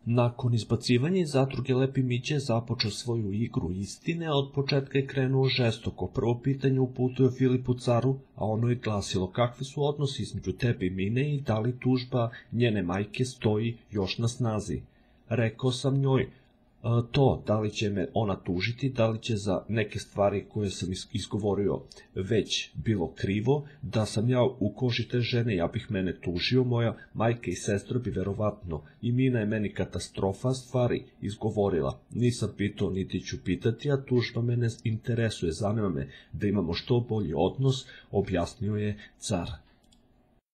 Nakon izbacivanja iz zadruge Lepi Mića je započeo svoju igru istine, a od početka je krenuo žestoko. Prvo pitanje uputio Filipu Caru, a ono je glasilo: kakvi su odnosi između tebe i Mine i da li tužba njene majke stoji još na snazi? Rekao sam njoj to, da li će me ona tužiti, da li će za neke stvari koje sam izgovorio već bilo krivo, da sam ja u koži te žene, ja bih mene tužio, moja majka i sestra bi verovatno, i Mina je meni katastrofa stvari izgovorila. Nisam pitao, niti ću pitati, a tužba mene interesuje, zanima me da imamo što bolji odnos, objasnio je car.